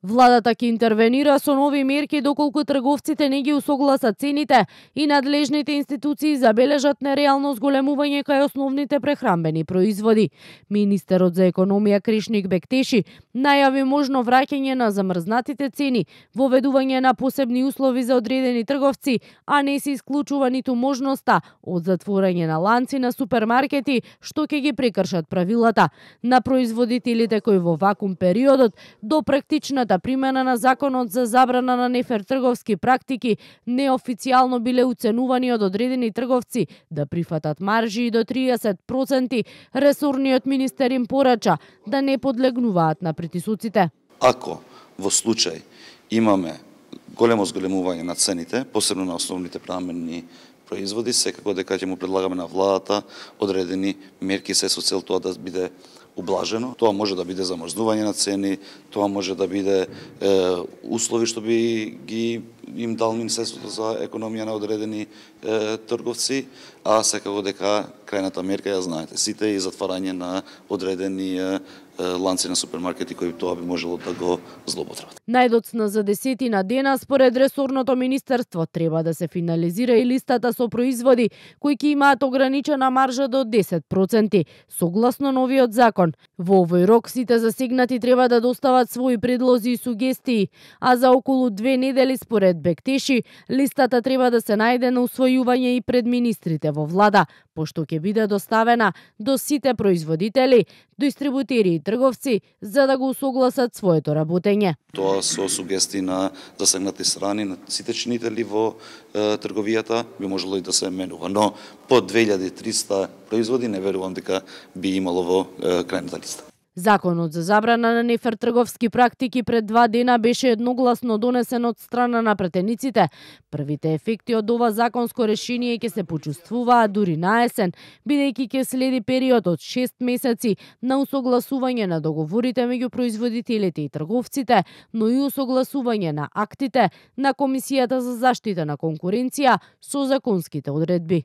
Владата ќе интервенира со нови мерки доколку трговците не ги усогласат цените и надлежните институции забележат нереално зголемување кај основните прехранбени производи. Министерот за економија Кришник Бектеши најави можно враќање на замрзнатите цени, воведување на посебни услови за одредени трговци, а не се исклучува ниту можноста од затворање на ланци на супермаркети што ќе ги прекршат правилата. На производителите кои во вакуум периодот до практичната примена на законот за забрана на нефер трговски практики неофицијално биле уценувани од одредени трговци да прифатат маржи и до 30%, ресорниот министер им порача да не подлегнуваат на притисоците. Ако во случај имаме големо зголемување на цените, посебно на основните прехранбени производи, секако дека ќе му предлагаме на владата одредени мерки се со цел тоа да биде ублажено. Тоа може да биде замрзнување на цени, тоа може да биде услови што би ги им дал Министерството за економија на одредени трговци, а секако дека крајната мерка ја знаете сите и затварање на одредени ланци на супермаркети кои тоа би можело да го злоупотребат. Најдоцна за 10 дена според ресорното министерство треба да се финализира и листата со производи кои ќе имаат ограничена маржа до 10%, согласно новиот закон. Во овој рок сите засегнати треба да достават своји предлози и сугестии, а за околу 2 недели според Бектеши листата треба да се најде на усвојување и пред министрите во влада, пошто ќе биде доставена до сите производители, дистрибутери и трговци за да го усогласат своето работење. Тоа со сугестии на засегнати страни, на сите чинители во трговијата би можело и да се менува, но по 2300 производи не верувам дека би имало во крајната листа. Законот за забрана на нефер трговски практики пред 2 дена беше едногласно донесен од страна на претениците. Првите ефекти од ова законско решение ќе се почувствуваат дури на есен, бидејќи ќе следи период од 6 месеци на усогласување на договорите меѓу производителите и трговците, но и усогласување на актите на Комисијата за заштита на конкуренција со законските одредби.